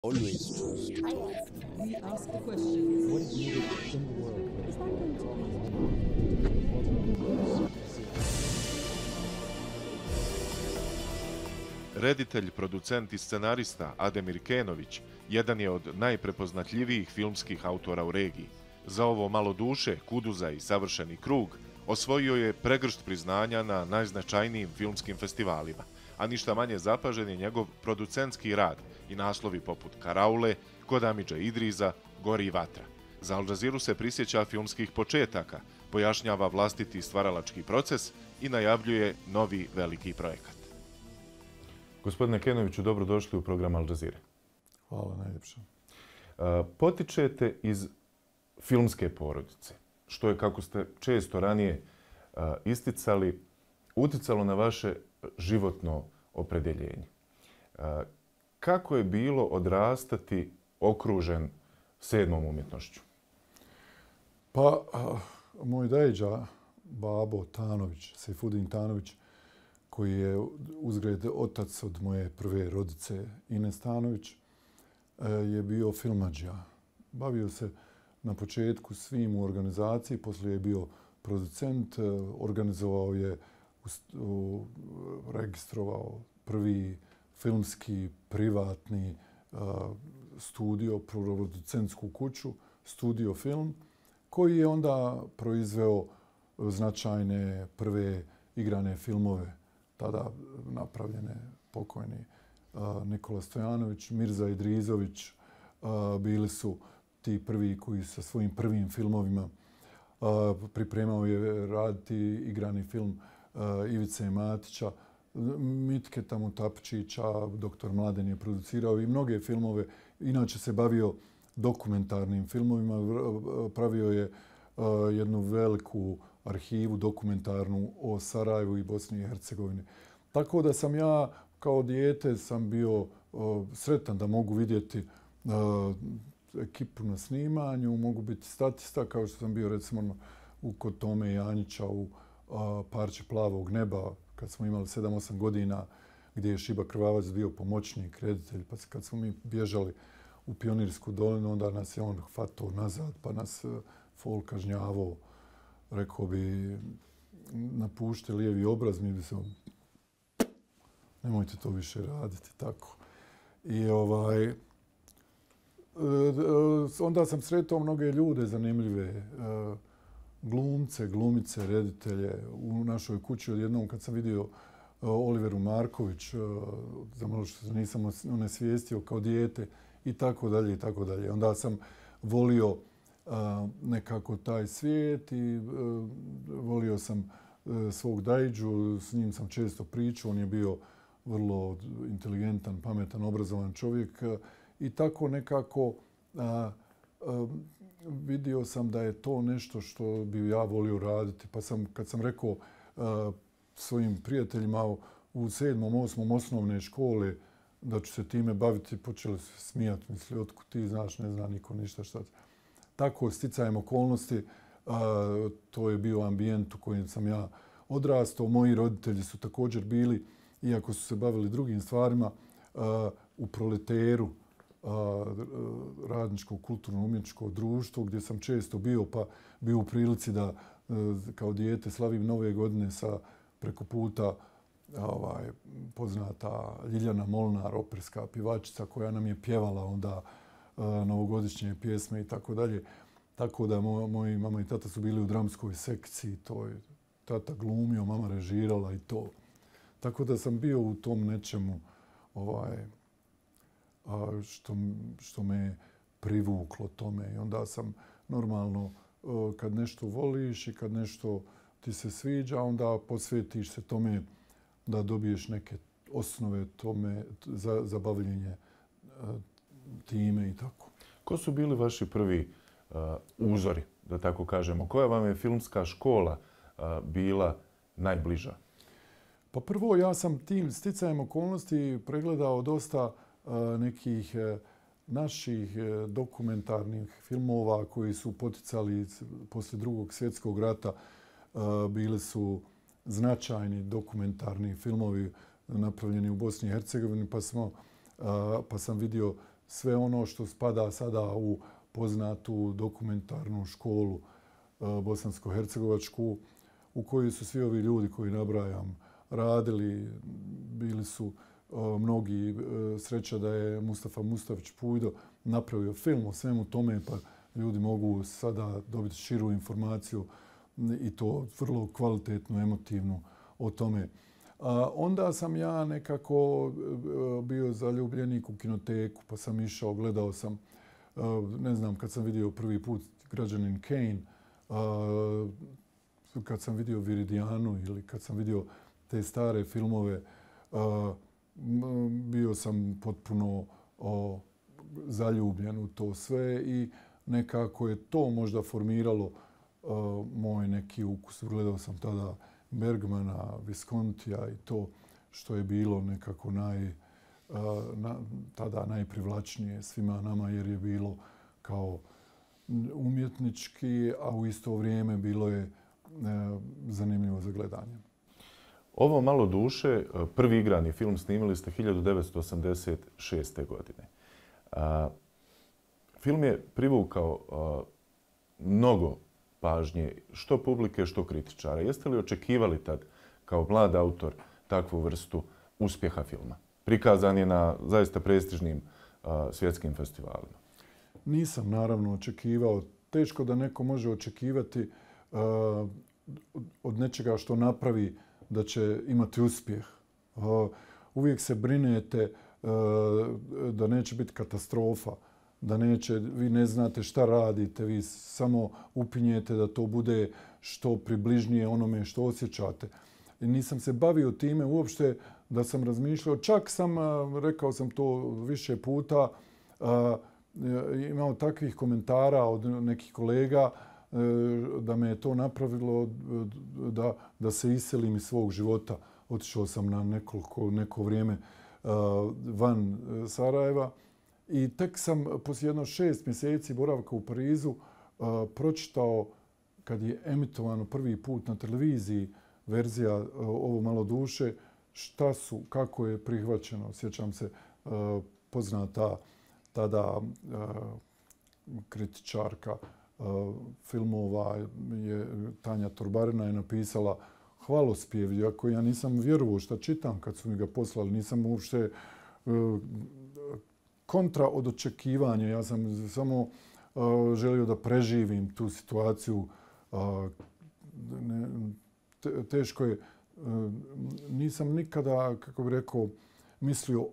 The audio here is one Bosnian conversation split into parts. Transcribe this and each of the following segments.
Always trust. We ask the questions. What is needed in the world? Is that going to be? Reditelj, producent i scenarista Ademir Kenović jedan je od najprepoznatljivijih filmskih autora u regiji. Za ovo malo duše, Kuduza i Savršeni krug osvojio je pregršt priznanja na najznačajnijim filmskim festivalima, a ništa manje zapažen je njegov producentski rad i naslovi poput Karaule, Kod Amidža Idriza, Gori vatra. Za Al Jazeeru se prisjeća filmskih početaka, pojašnjava vlastiti stvaralački proces i najavljuje novi veliki projekat. Gospodine Kenoviću, dobrodošli u program Al Jazeere. Hvala najljepše. Potičete iz filmske porodice, što je, kako ste često ranije isticali, uticalo na vaše životno opredjeljenje. Kako je bilo odrastati okružen sedmom umjetnošću? Pa, moj dajđa, babo Tanović, Sejfudin Tanović, koji je uzgred otac od moje prve rodice Ines Tanović, je bio filmadžija. Bavio se na početku svim u organizaciji, poslije je bio producent, organizovao je, registrovao prvi filmski, privatni studio, producentsku kuću, Studio Film, koji je onda proizveo značajne prve igrane filmove, tada napravljene pokojni Nikola Stojanović, Mirza Idrizović, bili su ti prvi koji sa svojim prvim filmovima pripremao je raditi igrani film Ivice Matića, Mitketa Mutapčića, doktor Mladen je producirao i mnoge filmove. Inače se bavio dokumentarnim filmovima, pravio je jednu veliku arhivu dokumentarnu o Sarajevu i Bosni i Hercegovini. Tako da sam ja kao dijete sam bio sretan da mogu vidjeti ekipu na snimanju, mogu biti statista kao što sam bio recimo kod Tome Janjića u Parče plavog neba kad smo imali 7-8 godina gdje je Šiba Krvavac bio pomoćnik, reditelj, pa kad smo mi bježali u Pionirsku dolinu, onda nas je on hvatao nazad, pa nas fol kažnjavao, rekao bi, napušte lijevi obraz, mi bi se nemojte to više raditi, tako. I onda sam sretao mnoge ljude zanimljive, glumce, glumice, reditelje u našoj kući. Odjednom kad sam vidio Oliveru Marković, za malo što se nisam onesvijestio kao dijete i tako dalje i tako dalje. Onda sam volio nekako taj svijet i volio sam svog dajđu, s njim sam često pričao, on je bio vrlo inteligentan, pametan, obrazovan čovjek i tako nekako vidio sam da je to nešto što bi ja volio raditi. Pa sam, kad sam rekao svojim prijateljima u 7. 8. osnovne škole da ću se time baviti, počeli se smijati. Misli, otkud ti znaš, ne zna niko ništa šta. Tako, sticajem okolnosti, to je bio ambijent u kojem sam ja odrastao. Moji roditelji su također bili, iako su se bavili drugim stvarima, u Proleteru, radničko kulturno-umjetničko društvo gdje sam često bio, pa bio u prilici da kao dijete slavim Nove godine sa preko puta poznata Ljiljana Molnar, operska pjevačica koja nam je pjevala onda novogodišnje pjesme i tako dalje. Tako da moji mama i tata su bili u dramskoj sekciji, to je tata glumio, mama režirala i to. Tako da sam bio u tom nečemu što me privuklo tome. I onda sam normalno, kad nešto voliš i kad nešto ti se sviđa, onda posvetiš se tome da dobiješ neke osnove tome za bavljenje time i tako. Ko su bili vaši prvi uzori, da tako kažemo? Koja vam je filmska škola bila najbliža? Pa prvo, ja sam tim sticajem okolnosti pregledao dosta nekih naših dokumentarnih filmova koji su poticali poslije Drugog svjetskog rata. Bili su značajni dokumentarni filmovi napravljeni u Bosni i Hercegovini, pa sam vidio sve ono što spada sada u poznatu dokumentarnu školu bosansko-hercegovačku, u kojoj su svi ovi ljudi koji nabrajam radili. Bili su mnogi, sreća da je Mustafa Mustafić Pujdo napravio film o svemu tome, pa ljudi mogu sada dobiti širu informaciju i to vrlo kvalitetnu, emotivnu o tome. Onda sam ja nekako bio zaljubljenik u kinoteku, pa sam išao, gledao sam, ne znam, kad sam vidio prvi put Građanin Kane, kad sam vidio Viridijanu ili kad sam vidio te stare filmove, bio sam potpuno zaljubljen u to sve i nekako je to možda formiralo moj neki ukus. Gledao sam tada Bergmana, Viscontija i to što je bilo nekako tada najprivlačnije svima nama jer je bilo kao umjetnički, a u isto vrijeme bilo je zanimljivo za gledanje. Ovo Malo duše, prvi igrani film snimili ste 1986. godine. Film je privukao mnogo pažnje, što publike, što kritičara. Jeste li očekivali tad, kao mlad autor, takvu vrstu uspjeha filma? Prikazan je na zaista prestižnim svjetskim festivalima. Nisam naravno očekivao. Teško da neko može očekivati od nečega što napravi da će imati uspjeh. Uvijek se brinete da neće biti katastrofa, da neće, vi ne znate šta radite, vi samo upinjete da to bude što približnije onome što osjećate. I nisam se bavio time uopšte da sam razmišljao, čak sam, rekao sam to više puta, imao takvih komentara od nekih kolega da me je to napravilo da se iselim iz svog života. Otišao sam na neko vrijeme van Sarajeva i tek sam poslije jedno 6 mjeseci boravka u Parizu pročitao, kad je emitovano prvi put na televiziji verzija Ovo malo duše, kako je prihvaćeno. Sjećam se, poznata tada kritičarka filmova Tanja Torbarina je napisala hvalospjev, iako ja nisam vjerovao šta čitam kad su mi ga poslali. Nisam uopšte kontra od očekivanja. Ja sam samo želio da preživim tu situaciju. Teško je. Nisam nikada, kako bih rekao, mislio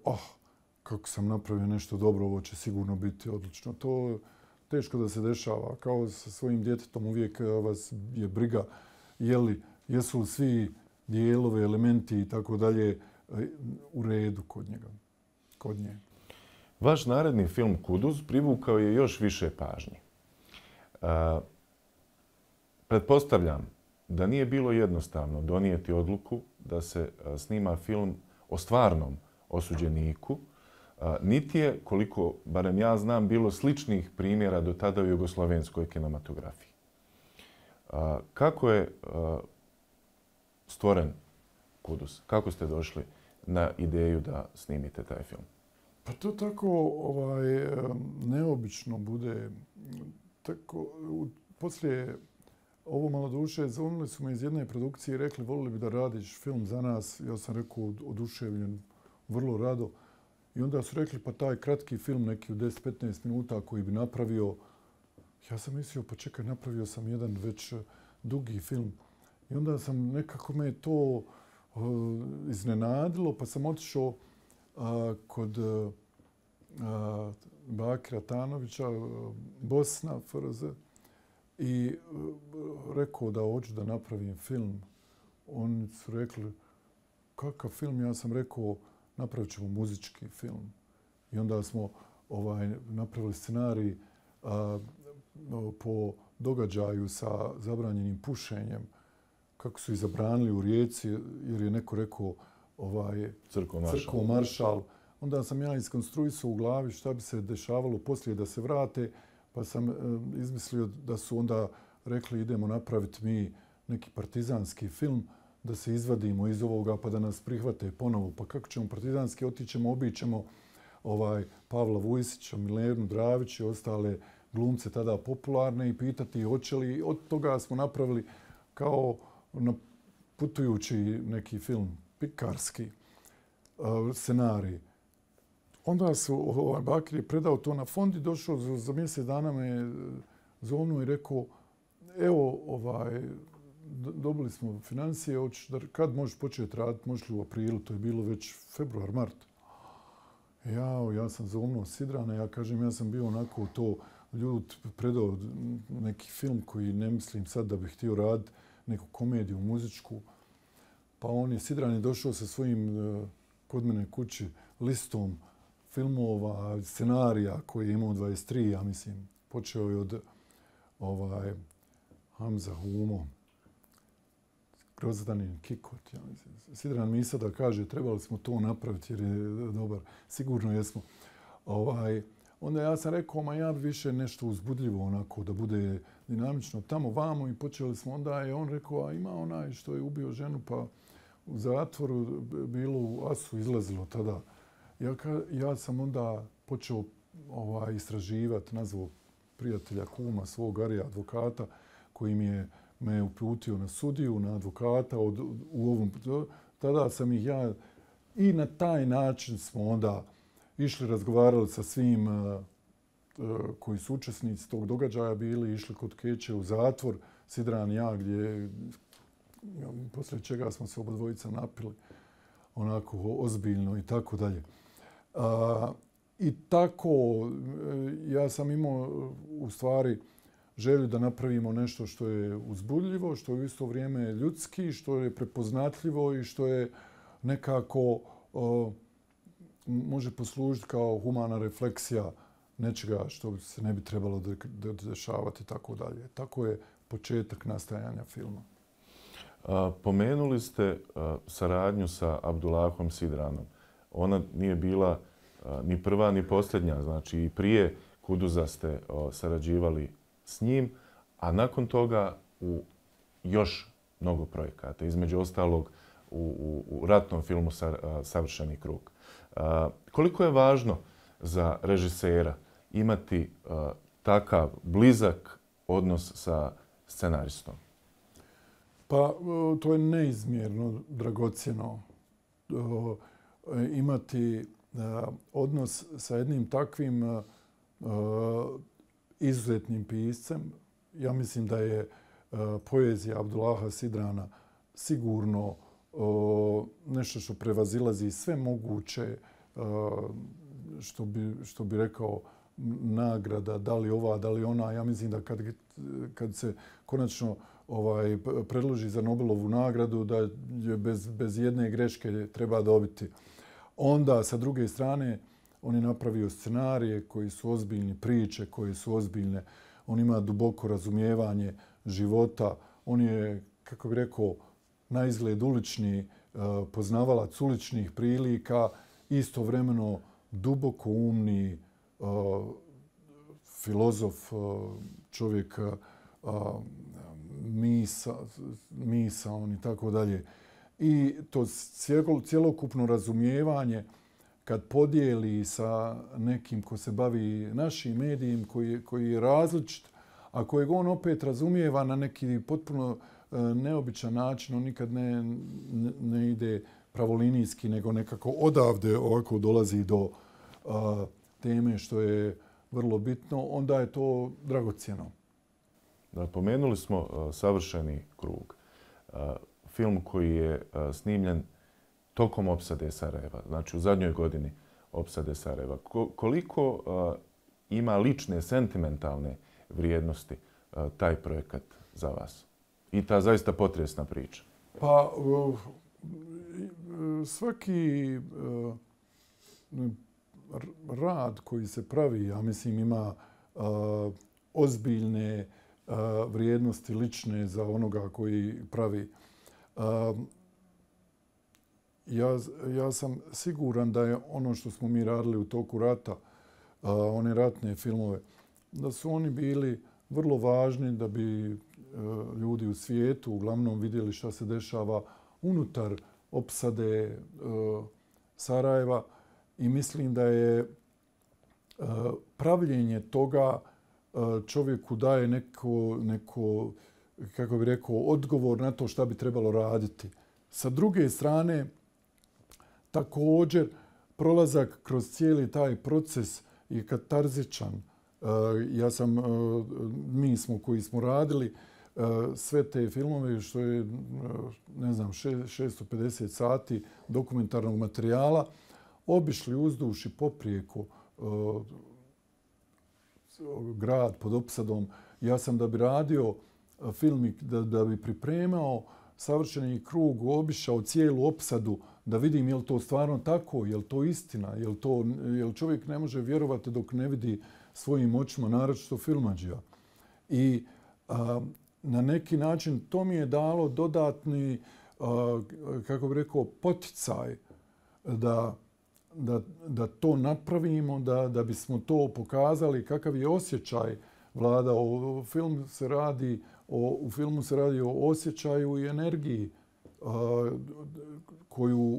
kako sam napravio nešto dobro, ovo će sigurno biti odlično. To teško da se dešava. Kao sa svojim djetetom uvijek vas je briga jesu li svi dijelovi, elementi i tako dalje u redu kod nje. Vaš naredni film Kuduz privukao je još više pažnje. Pretpostavljam da nije bilo jednostavno donijeti odluku da se snima film o stvarnom osuđeniku, niti je, koliko barem ja znam, bilo sličnih primjera do tada u jugoslavenskoj kinematografiji. Kako je stvoren Kuduz? Kako ste došli na ideju da snimite taj film? Pa to tako neobično bude. Poslije Ovo malo duše zvonili su me iz jedne produkcije i rekli volili bi da radiš film za nas. Ja sam rekao oduševljen, vrlo rado. I onda su rekli pa taj kratki film neki u 10-15 minuta koji bi napravio. Ja sam mislio pa čekaj, napravio sam jedan već dugi film. I onda sam nekako me to iznenadilo pa sam otišao kod Bakira Tanovića, Bosna, FRZ, i rekao da hoću da napravim film. Oni su rekli kakav film? Ja sam rekao napravit ćemo muzički film. I onda smo napravili scenarij po događaju sa zabranjenim pušenjem, kako su ih zabranili u Rijeci jer je neko rekao Crkvo Maršal. Onda sam ja iskonstruisao u glavi šta bi se dešavalo poslije da se vrate, pa sam izmislio da su onda rekli idemo napraviti mi neki partizanski film, da se izvadimo iz ovoga pa da nas prihvate ponovo. Pa kako ćemo partizanski, otićemo, obićemo Pavla Vujsića, Milenu Dravić i ostale glumce tada popularne i pitati hoće li. Od toga smo napravili kao putujući neki film, pikarski scenarij. Onda su Bakir je predao to na fond i došao za mjesec dana me zovnuo i rekao evo dobili smo financije, kad možeš početi raditi, možeš li u aprilu, to je bilo već februar, mart. Ja sam zovnuo Sidrana, ja kažem ja sam bio onako to ljud predao neki film koji ne mislim sad da bih htio raditi, neku komediju muzičku. Pa Sidran je došao sa svojim kod mene kući listom filmova, scenarija koji je imao 23, ja mislim. Počeo je od Hamza Humo, Grozdanin Kikot. Ja mislim. Sidran mi sada kaže trebali smo to napraviti jer je dobar. Sigurno jesmo. Onda ja sam rekao, ma ja bi više nešto uzbudljivo onako da bude dinamično tamo vamo i počeli smo. Onda je on rekao, a ima onaj što je ubio ženu pa u zatvoru bilo u Asu izlazilo tada. Ja sam onda počeo istraživati, nazvao prijatelja kuma svog Arija advokata koji me uputio na sudiju, na advokata. Tada sam ih ja i na taj način smo onda išli, razgovarali sa svim koji su učesnici tog događaja bili, išli kod Keće u zatvor, Sidran i ja, gdje poslije čega smo se obadvojica napili onako ozbiljno i tako dalje. I tako ja sam imao u stvari želju da napravimo nešto što je uzbudljivo, što je u isto vrijeme ljudski, što je prepoznatljivo i što je nekako može poslužiti kao humana refleksija nečega što se ne bi trebalo dešavati i tako dalje. Tako je početak nastajanja filma. Pomenuli ste saradnju sa Abdullahom Sidranom. Ona nije bila ni prva ni posljednja. Znači i prije Kuduza ste sarađivali s njim, a nakon toga u još mnogo projekata. Između ostalog u ratnom filmu Savršeni krug. Koliko je važno za režisera imati takav blizak odnos sa scenaristom? Pa to je neizmjerno dragocjeno imati odnos sa jednim takvim izuzetnim piscem. Ja mislim da je poezija Abdullaha Sidrana sigurno nešto što prevazilazi sve moguće, što bi rekao, nagrada, da li ova, da li ona. Ja mislim da kad se konačno predloži za Nobelovu nagradu, da je bez jedne greške treba dobiti. Onda, sa druge strane, on je napravio scenarije koji su ozbiljni, priče koje su ozbiljne. On ima duboko razumijevanje života. On je, kako bih rekao, na izgled ulični, poznavalac uličnih prilika, istovremeno duboko umni filozof, čovjek misaon i tako dalje. I to cjelokupno razumijevanje kad podijeli sa nekim ko se bavi našim medijem, koji je različit, a kojeg on opet razumijeva na neki potpuno neobičan način, on nikad ne ide pravolinijski, nego nekako odavde ovako dolazi do teme što je vrlo bitno, onda je to dragocjeno. Pomenuli smo Savršeni krug. Film koji je snimljen tokom opsade Sarajeva, znači u zadnjoj godini opsade Sarajeva. Koliko ima lične, sentimentalne vrijednosti taj projekat za vas? I ta zaista potresna priča. Pa svaki rad koji se pravi, ja mislim, ima ozbiljne vrijednosti lične za onoga koji pravi. Ja sam siguran da je ono što smo mi radili u toku rata, one ratne filmove, da su oni bili vrlo važni da bi ljudi u svijetu uglavnom vidjeli šta se dešava unutar opsade Sarajeva i mislim da je pravljenje toga čovjeku daje neko, kako bi rekao, odgovor na to šta bi trebalo raditi. Sa druge strane, također, prolazak kroz cijeli taj proces je katarzičan. Mi smo koji smo radili sve te filmove, što je, ne znam, 650 sati dokumentarnog materijala, obišli uzduž i poprijeko grad pod opsadom. Ja sam da bi radio film i da bi pripremao Savršeni krug, obišao cijelu opsadu da vidim je li to stvarno tako, je li to istina, je li čovjek ne može vjerovati dok ne vidi svojim očima, naročito filmadžija. I na neki način to mi je dalo dodatni, kako bi rekao, poticaj da to napravimo, da bismo to pokazali kakav je osjećaj vladao. U filmu se radi o osjećaju i energiji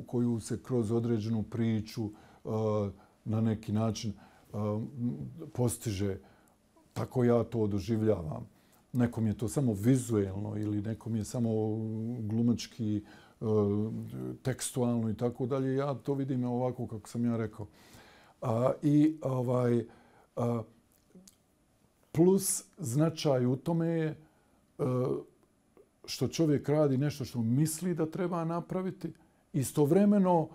koju se kroz određenu priču na neki način postiže. Tako ja to doživljavam. Nekom je to samo vizuelno ili nekom je samo glumački, tekstualno i tako dalje. Ja to vidim ovako kako sam ja rekao. Plus značaj u tome je što čovjek radi nešto što misli da treba napraviti. Istovremeno,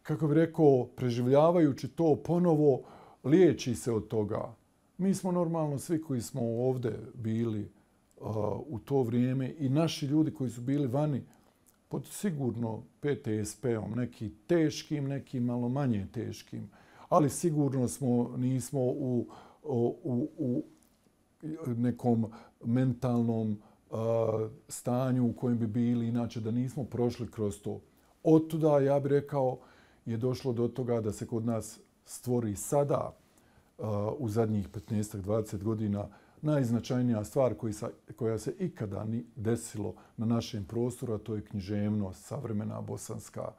kako bi rekao, preživljavajući to ponovo, liječi se od toga. Mi smo normalno svi koji smo ovdje bili u to vrijeme i naši ljudi koji su bili vani pod sigurno PTSP-om, neki teškim, neki malo manje teškim, ali sigurno nismo u nekom mentalnom stanju u kojem bi bili inače da nismo prošli kroz to. Otuda, ja bih rekao, je došlo do toga da se kod nas stvori sada u zadnjih 15-20 godina najznačajnija stvar koja se ikada ni desilo na našem prostoru, a to je književnost, savremena bosanska.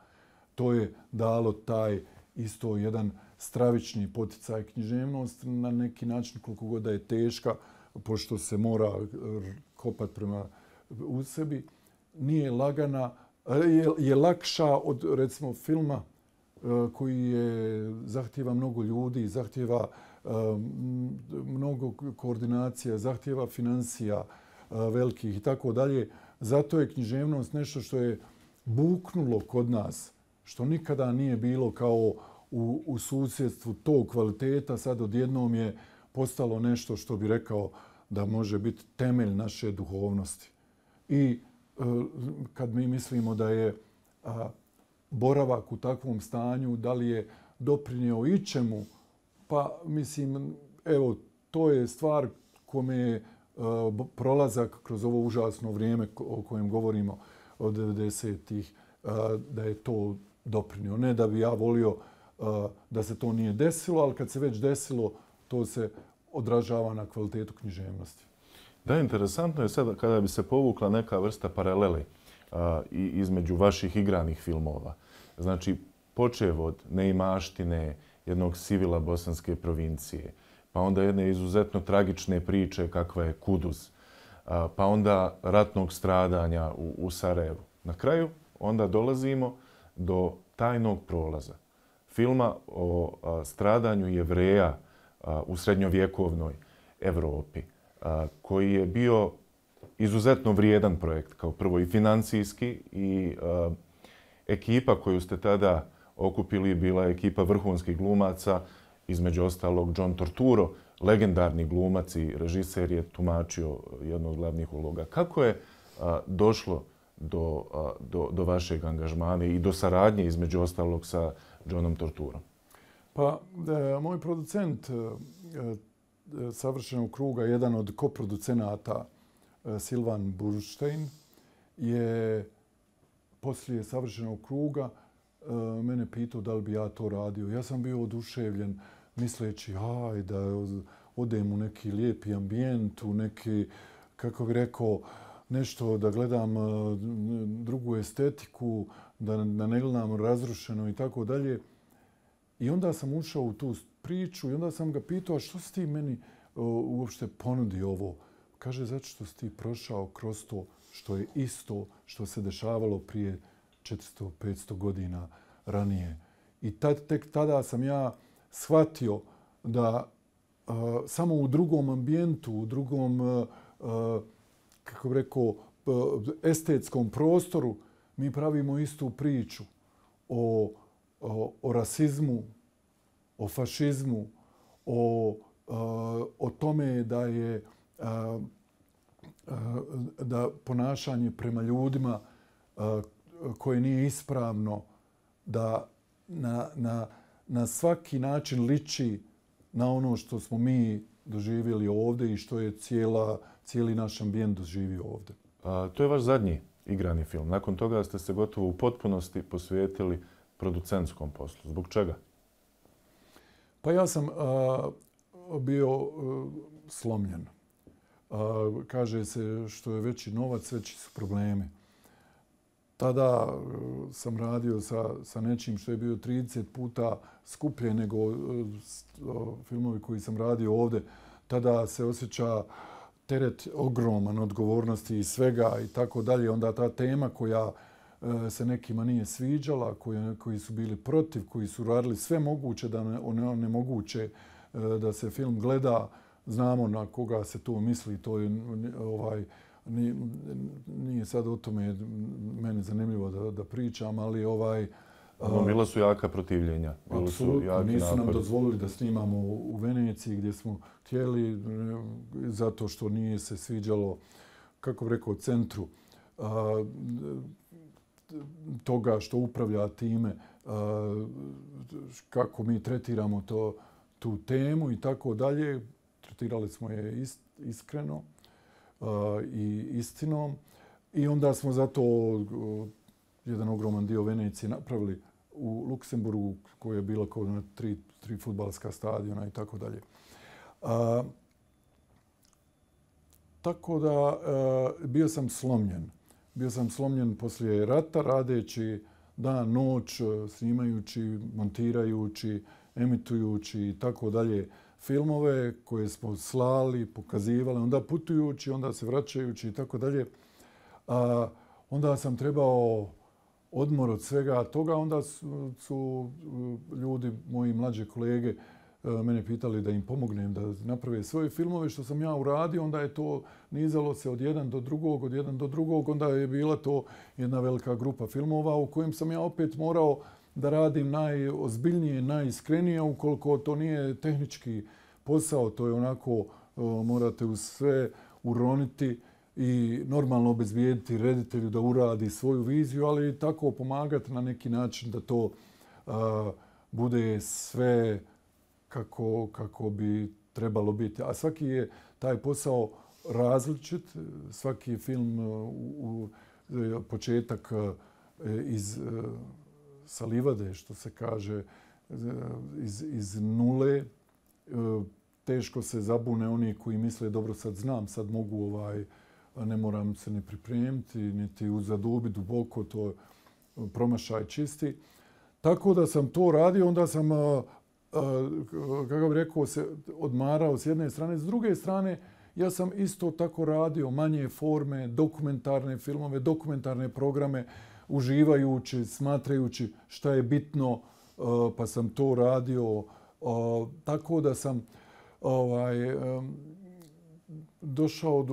To je dalo taj isto jedan stravični poticaj. Književnost na neki način, koliko god da je teška, pošto se mora kopati prema u sebi, nije lagana, je lakša od, recimo, filma koji zahtijeva mnogo ljudi, zahtijeva mnogo koordinacija, zahtijeva financija velikih i tako dalje. Zato je književnost nešto što je buknulo kod nas, što nikada nije bilo kao u susjedstvu tog kvaliteta. Sad odjednom je postalo nešto što bi rekao da može biti temelj naše duhovnosti. I kad mi mislimo da je boravak u takvom stanju, da li je doprinio ičemu, pa mislim, evo, to je stvar kome je prolazak kroz ovo užasno vrijeme o kojem govorimo od 90-ih, da je to doprinio. Ne da bi ja volio da se to nije desilo, ali kad se već desilo, to se odražava na kvalitetu književnosti. Da, interesantno je sada kada bi se povukla neka vrsta paralele između vaših igranih filmova. Znači, počev od neimaštine, jednog sivila bosanske provincije, pa onda jedne izuzetno tragične priče kakva je Kuduz, pa onda ratnog stradanja u Sarajevu. Na kraju onda dolazimo do Tajnog prolaza, filma o stradanju Jevreja u srednjovjekovnoj Evropi, koji je bio izuzetno vrijedan projekt, kao prvo i financijski, i ekipa koju ste tada okupili bila je ekipa vrhunskih glumaca, između ostalog John Turturro, legendarni glumac i režiser, je tumačio jednu od glavnih uloga. Kako je došlo do vašeg angažmana i do saradnje, između ostalog, sa Johnom Turturrom? Pa, moj producent Savršenog kruga, jedan od koproducenata, Silvan Burštajn, je poslije Savršenog kruga mene pitao da li bi ja to radio. Ja sam bio oduševljen misleći da odem u neki lijepi ambijent, u neki, kako bih rekao, nešto da gledam drugu estetiku, da ne gledam razrušeno i tako dalje. I onda sam ušao u tu priču i onda sam ga pitao što si ti meni uopšte ponudi ovo. Kaže, zato što si ti prošao kroz to što je isto što se dešavalo prije 400-500 godina ranije. I tek tada sam ja shvatio da samo u drugom ambijentu, u drugom, kako bih rekao, estetskom prostoru mi pravimo istu priču o rasizmu, o fašizmu, o tome da je da ponašanje prema ljudima koje nije ispravno, da na svaki način liči na ono što smo mi doživjeli ovdje i što je cijeli naš ambijent doživio ovdje. To je vaš zadnji igrani film. Nakon toga ste se gotovo u potpunosti posvetili producentskom poslu. Zbog čega? Pa ja sam bio slomljen. Kaže se što je veći novac, veći su problemi. Tada sam radio sa nečim što je bio 30 puta skuplje nego filmovi koji sam radio ovdje. Tada se osjeća teret ogroman odgovornosti i svega i tako dalje. Onda ta tema koja se nekima nije sviđala, koji su bili protiv, koji su radili sve moguće da onemoguće da se film gleda. Znamo na koga se to misli. To je, nije sad o tome meni zanimljivo da pričam, ali bila su jaka protivljenja. Apsolutno. Nisu nam dozvolili da snimamo u Veneciji gdje smo htjeli, zato što nije se sviđalo, kako bih rekao, centru toga što upravlja time, kako mi tretiramo tu temu i tako dalje. Tretirali smo je iskreno i istinom. I onda smo zato jedan ogroman dio Venecije napravili u Luksemburgu, koja je bila kao na tri fudbalska stadiona i tako dalje. Tako da bio sam slomljen. Bio sam slomljen poslije rata, radeći dan, noć, snimajući, montirajući, emitujući i tako dalje filmove koje smo slali, pokazivali, onda putujući, onda se vraćajući i tako dalje. Onda sam trebao odmor od svega toga. Onda su ljudi, moji mlađe kolege, mene pitali da im pomognem da naprave svoje filmove, što sam ja uradio. Onda je to nizalo se od jedan do drugog. Onda je bila to jedna velika grupa filmova u kojem sam ja opet morao da radim najozbiljnije, najiskrenije, ukoliko to nije tehnički posao. To je onako, morate u sve uroniti i normalno obezbijediti reditelju da uradi svoju viziju, ali tako pomagati na neki način da to bude sve kako bi trebalo biti. A svaki je taj posao različit. Svaki film početak sa livade, što se kaže, iz nule. Teško se zabune oni koji misle dobro sad znam, sad mogu, ne moram se ni pripremiti, niti zadubi duboko, to je promašaj čisti. Tako da sam to radio, onda sam, kako bih rekao, se odmarao s jedne strane. S druge strane, ja sam isto tako radio manje forme, dokumentarne filmove, dokumentarne programe, uživajući, smatrajući šta je bitno, pa sam to radio. Tako da sam došao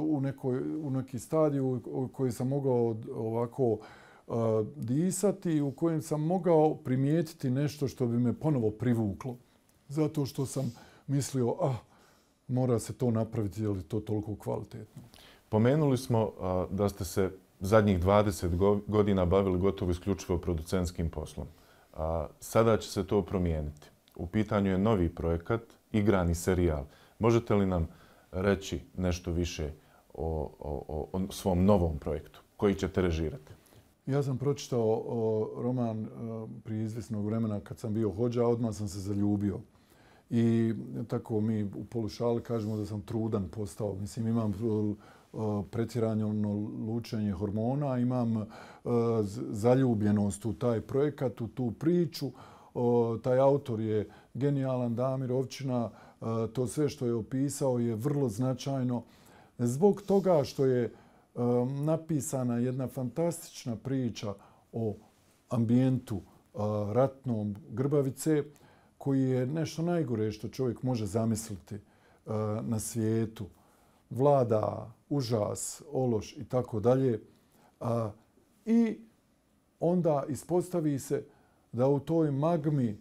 u neki stadiju u koji sam mogao ovako disati, u kojem sam mogao primijetiti nešto što bi me ponovo privuklo. Zato što sam mislio, mora se to napraviti, je li to toliko kvalitetno. Pomenuli smo da ste se zadnjih 20 godina bavili gotovo isključivo producentskim poslom. Sada će se to promijeniti. U pitanju je novi projekat, igrani serijal. Možete li nam reći nešto više o svom novom projektu koji ćete režirati? Ja sam pročitao roman prije izvjesnog vremena kad sam bio hodža, odmah sam se zaljubio. I tako mi u polušali kažemo da sam trudan postao. Mislim, imam pretjerano lučenje hormona, imam zaljubljenost u taj projekat, u tu priču. taj autor je genijalan, Damir Ovčina, to sve što je opisao je vrlo značajno. Zbog toga što je napisana jedna fantastična priča o ambijentu ratnom Grbavice, koji je nešto najgore što čovjek može zamisliti na svijetu. Vlada užas, ološ i tako dalje. I onda ispostavi se da u toj magmi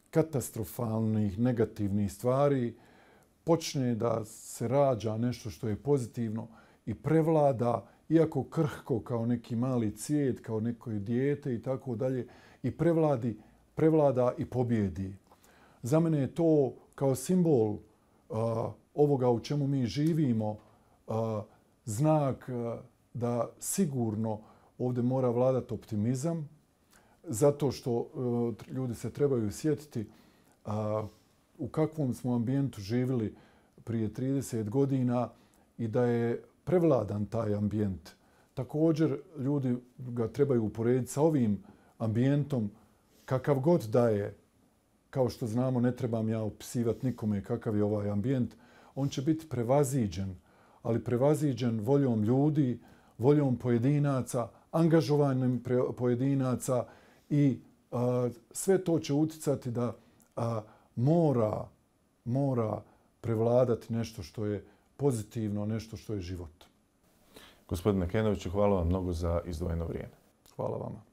katastrofalnih, negativnih stvari počne da se rađa nešto što je pozitivno i prevlada, iako krhko kao neki mali cvijet, kao neko dijete i tako dalje, i prevlada i pobjedi. Za mene je to kao simbol ovoga u čemu mi živimo, znak da sigurno ovdje mora vladati optimizam, zato što ljudi se trebaju sjetiti u kakvom smo ambijentu živjeli prije 30 godina i da je prevladan taj ambijent. Također ljudi ga trebaju uporediti sa ovim ambijentom kakav god da je. Kao što znamo, ne trebam ja opisivati nikome kakav je ovaj ambijent. On će biti prevaziđen, ali prevaziđen voljom ljudi, voljom pojedinaca, angažovanjem pojedinaca i sve to će uticati da mora prevladati nešto što je pozitivno, nešto što je život. Gospodine Kenoviću, hvala vam mnogo za izdvojeno vrijeme. Hvala vama.